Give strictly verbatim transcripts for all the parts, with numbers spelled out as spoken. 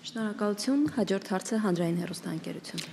Շնորհակալություն, հաջորդ հարցը հանրային հեռուստաընկերություն։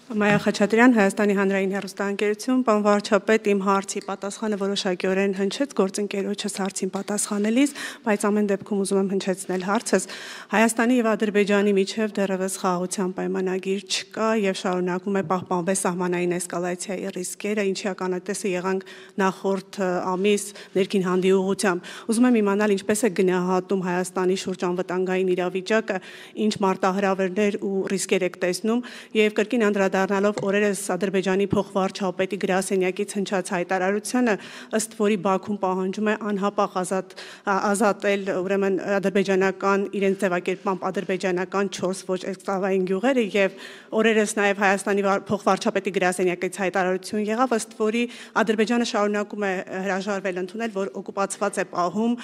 Մայա Խաչատրյան, Հայաստանի հանրային հեռուստաընկերություն, պարոն վարչապետ, իմ հարցի պատասխանը որոշակիորեն հնչեց գործընկերոջս հարցին պատասխանելիս, բայց ամեն դեպքում ուզում եմ հնչեցնել հարցս։ Հայաստանի եւ Ադրբեջանի միջև դեռևս խաղաղության պայմանագիր չկա եւ շարունակում է պահպանվել սահմանային էսկալացիայի ռիսկերը, ինչի ականատեսը եղանք նախորդ ամիս ներքին հանդի ուղղությամբ։ Ուզում եմ իմանալ ինչպես է գնահատում Հայաստանի շուրջ անվտանգային իրավիճակը, ինչ մարտահրավերներ ու ռիսկեր եք տեսնում եւ կրկին անդրադառնալով օրերս Ադրբեջանի փոխվարչապետի գրասենյակից հնչած հայտարարությունը, ըստ որի Բաքուն պահանջում է անհապաղ ազատ ազատել ուրեմն ադրբեջանական իրենց ձևակերպմամբ ադրբեջանական չորս ոչ էքսկլավային գյուղերը եւ օրերս նաեւ Հայաստանի փոխվարչապետի գրասենյակից հայտարարություն եղավ, ըստ որի Ադրբեջանը շարունակում է հրաժարվել ընդունել, որ օկուպացված է պահում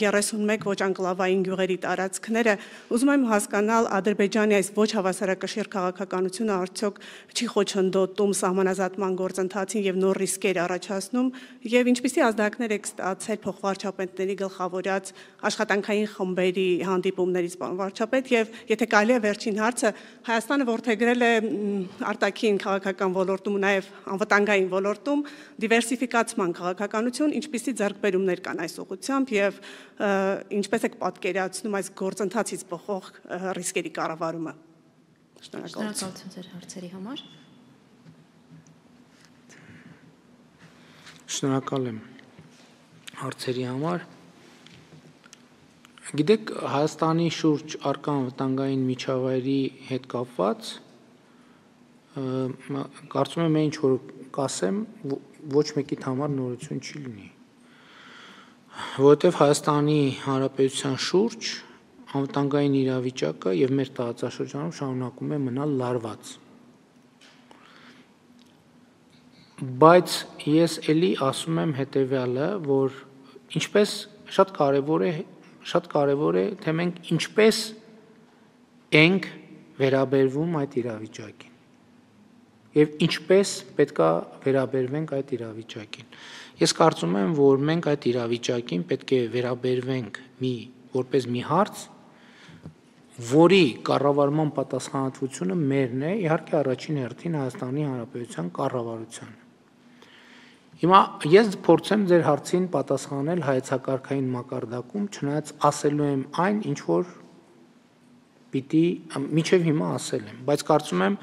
երեսունմեկ ոչ անկլավային գյուղերի տարածքները։ Ուզում եմ հասկանալ Ադրբեջանի այս ոչ հավասարակշիռ քաղաքականությունը արդյոք չի խոչընդոտում սահմանազատման գործընթացին եւ նոր ռիսկեր առաջացնում եւ ինչպիսի ազդակներ եք ստացել փոխվարչապետների գլխավորած աշխատանքային խմբերի հանդիպումներից, պարոն վարչապետ, եւ եթե կարելի է վերջին հարցը, Հայաստանը որդեգրել է արտաքին քաղաքական ոլորտում ու նաեւ անվտանգային ոլորտում դիվերսիֆիկացման քաղաքականություն, ինչպիսի ձեռքբերումներ կան այս ուղղությամբ եւ ինչպես եք պատկերացնում այս գործընթացից բխող ռիսկերի կառավարումը։ Շնորհակալություն ձեր հարցերի համար։ Շնորհակալ եմ հարցերի համար։ Գիտեք, Հայաստանի շուրջ առկա անվտանգային միջավայրի հետ կապված կարծում եմ ինչ որ կասեմ, ոչ մեկիդ համար նորություն չի լինի, որովհետև Հայաստանի Հանրապետության շուրջ անվտանգային իրավիճակը եւ մեր տարածաշրջանում շարունակում է մնալ լարված։ Բայց ես էլի ասում եմ հետեւյալը, որ ինչպես շատ կարեւոր է, շատ կարեւոր է, թե մենք ինչպես ենք վերաբերվում այդ իրավիճակին եւ ինչպես պետքա վերաբերվենք այդ իրավիճակին։ Ես կարծում եմ, որ մենք այդ իրավիճակին պետք է վերաբերվենք մի որպես մի հարց, որի կառավարման պատասխանատվությունը մերն է, իհարկե առաջին հերթին Հայաստանի Հանրապետության կառավարության։ Հիմա ես փորձեմ ձեր հարցին պատասխանել հայեցակարգային մակարդակում, չնայած ասելու եմ այն, ինչ որ պիտի մինչև հիմա ասել եմ, բայց կարծում եմ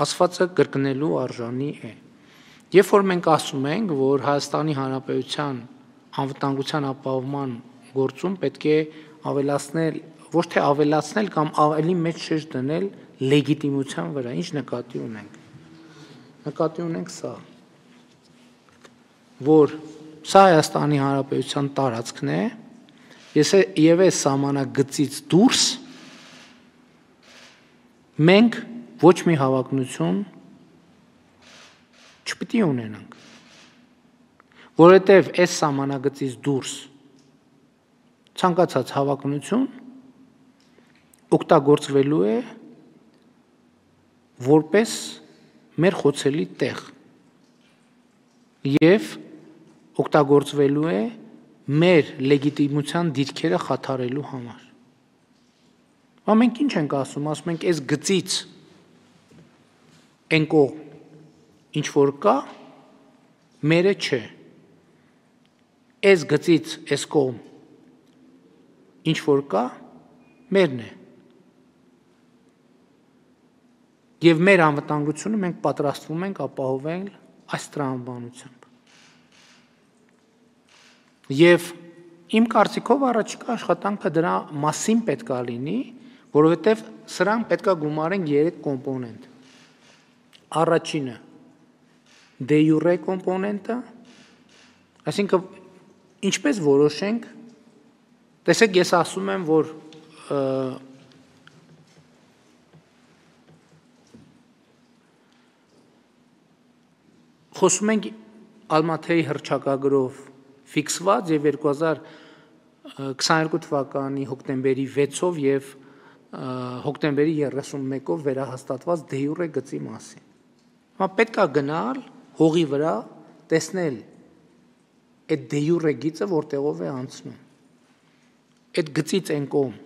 ասվածը կրկնելու արժանի է։ Երբ որ մենք ասում ենք, որ Հայաստանի Հանրապետության անվտանգության ապահովման գործում պետք է ավելացնել, ոչ թե ավելացնել կամ ավելի մեծ շեշտ դնել լեգիտիմության վրա, ինչ նկատի ունենք։ Նկատի ունենք սա, որ սա Հայաստանի Հանրապետության տարածքն է, եւ այս սահմանագծից դուրս մենք ոչ մի հավակնություն չպիտի ունենանք, որովհետև այս սահմանագծից դուրս ցանկացած հավակնություն օգտագործվելու է որպես մեր խոցելի տեղ եւ օգտագործվելու է մեր լեգիտիմության դիրքերը խաթարելու համար։ Բա մենք ինչ ենք ասում, ասում ենք այս գծից այն կողմ ինչ որ կա, մերը չէ։ Այս գծից այս կողմ ինչ որ կա, մերն է։ Եվ մեր անվտանգությունը մենք պատրաստվում ենք ապահովել այս տրամաբանությամբ։ Եվ իմ կարծիքով առաջիկա աշխատանքը դրա մասին պետք է լինի, որովհետև սրան պետք է գումարենք երեք կոմպոնենտ։ Առաջինը դե յուրե կոմպոնենտը, այսինքն ինչպես որոշենք, տեսեք ես ասում եմ, որ խոսում ենք Ալմաթեի հռչակագրով ֆիքսված եւ երկու հազար քսաներկու թվականի հոկտեմբերի վեցով եւ հոկտեմբերի երեսունմեկով վերահաստատված դե յուրե գծի մասին։ Հիմա պետք է գնալ հողի վրա տեսնել այդ դե յուրե գիծը որտեղով է անցնում։ Այդ գծից այն կողմ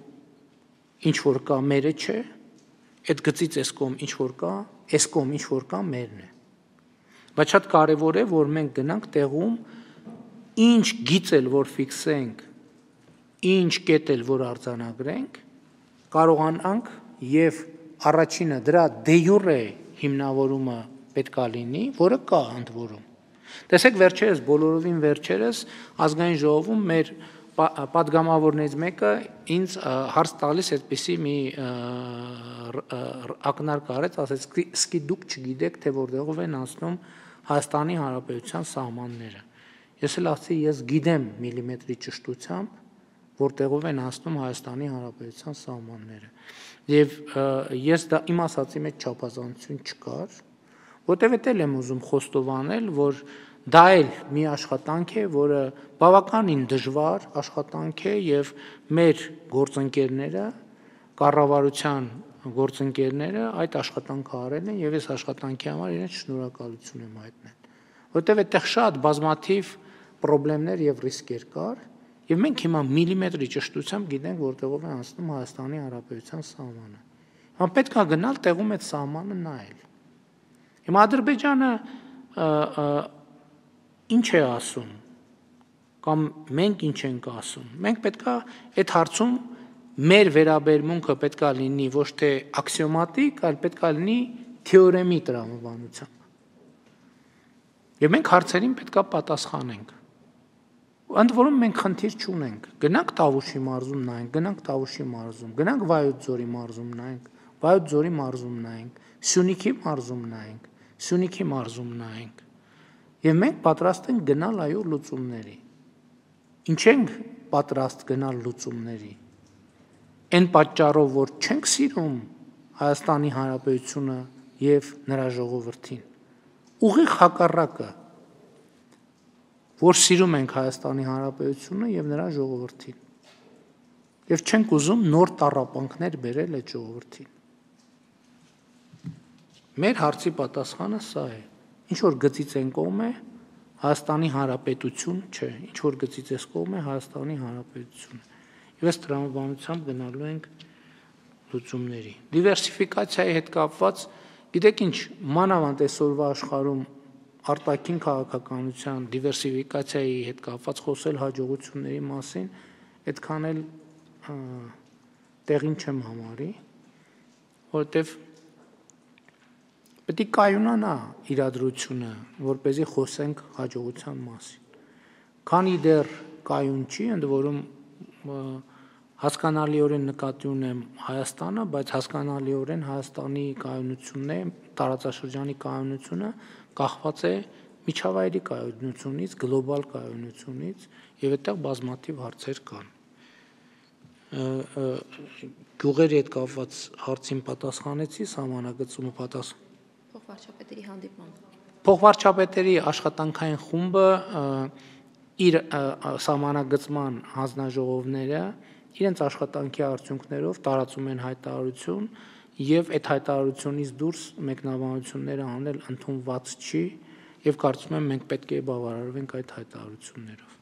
ինչ որ կա մերը չէ, այդ գծից այս կողմ ինչ որ կա, այս կողմ ինչ որ կա մերն է։ Բայց շատ կարևոր է, որ մենք գնանք տեղում ինչ գիծ էլ որ ֆիքսենք, ինչ կետ էլ որ արձանագրենք, կարողանանք եւ առաջինը դրա դե յուրե հիմնավորումը պետք է լինի, որը կա ընդ որում։ Տեսեք վերջերս բոլորովին վերջերս ազգային ժողովում մեր պատգամավորներից մեկը ինձ հարց տալիս այդպիսի մի ակնարկ արեց, ասեց, «Սկի դուք չգիտեք, թե որտեղով են անցնում Հայաստանի Հանրապետության սահմանները»։ Ես էլ ասացի, ես գիտեմ միլիմետրի ճշտությամբ, որտեղով են անցնում Հայաստանի Հանրապետության սահմանները։ Եվ ես դա իմ ասացի մեջ չափազանցություն չկար, որտեղ էլ եմ ուզում խոստովանել, որ դա էլ մի աշխատանք է, որը բավականին դժվար աշխատանք է եւ մեր գործընկերները, կառավարության գործընկերները այդ աշխատանքը արել են եւ այս աշխատանքի համար իրենց շնորհակալություն եմ հայտնել, որտեղ այդտեղ շատ բազմաթիվ խնդիրներ եւ ռիսկեր կար եւ մենք հիմա միլիմետրի ճշտությամբ գիտենք որտեղով է անցնում Հայաստանի Հանրապետության սահմանը։ Հիմա պետք է գնալ տեղում այդ սահմանը նայել։ Հիմա Ադրբեջանը ինչ է ասում կամ մենք ինչ ենք ասում։ Մենք պետք է այդ հարցում մեր վերաբերմունքը պետք է լինի ոչ թե աքսիոմատիկ, այլ պետք է լինի թեորեմի տրամաբանությամբ։ Եվ մենք հարցերին պետք է պատասխանենք։ Ընդ որում մենք խնդիր չունենք։ Գնանք Տավուշի մարզում նայենք, գնանք Տավուշի մարզում, գնանք Վայոց ձորի մարզում նայենք, Վայոց ձորի մարզում նայենք, Սյունիքի մարզում նայենք, Սյունիքի մարզում նայենք։ Եվ մենք պատրաստ ենք գնալ այո լուծումների։ Ինչ ենք պատրաստ գնալ լուծումների։ Այն պատճառով, որ չենք սիրում Հայաստանի Հանրապետությունը եւ նրա ժողովրդին։ Ուղիղ հակառակը, որ սիրում ենք Հայաստանի Հանրապետությունը եւ նրա ժողովրդին։ Եվ չենք ուզում նոր տառապանքներ բերել այդ ժողովրդին։ Մեր հարցի պատասխանը սա է։ Ինչ որ գծից են կողմ է Հայաստանի Հանրապետություն, չէ, ինչ որ գծից էս կողմ է Հայաստանի Հանրապետությունը։ Եվ այս տրամաբանությամբ գնալու ենք լուծումների։ Դիվերսիֆիկացիայի հետ կապված, գիտեք ինչ, մանավանդ այսօրվա աշխարհում արտաքին քաղաքականության դիվերսիֆիկացիայի հետ կապված խոսել հաջողությունների մասին, այդքան էլ տեղին չեմ համարի, որովհետև պետք է կայունանա իրադրությունը, որպեսզի խոսենք հաջողության մասին։ Քանի դեռ կայուն չի, ընդ որում հասկանալիորեն նկատի ունեմ Հայաստանը, բայց հասկանալիորեն Հայաստանի կայունությունն է, տարածաշրջանի կայունությունը կախված է միջավայրի կայունությունից, գլոբալ կայունությունից, եւ այդտեղ բազմաթիվ հարցեր կան։ Գյուղերի հետ կապված հարցին պատասխանեցի, սահմանագծումը պատասխան։ Փոխվարչապետերի հանդիպման։ Փոխվարչապետերի աշխատանքային խումբը իր սահմանագծման հանձնաժողովները իրենց աշխատանքի արդյունքներով տարածում են հայտարարություն եւ այդ հայտարարությունից դուրս մեկնաբանությունները անել ընդունված չի եւ կարծում եմ մենք պետք է բավարարվենք այդ հայտարարություններով։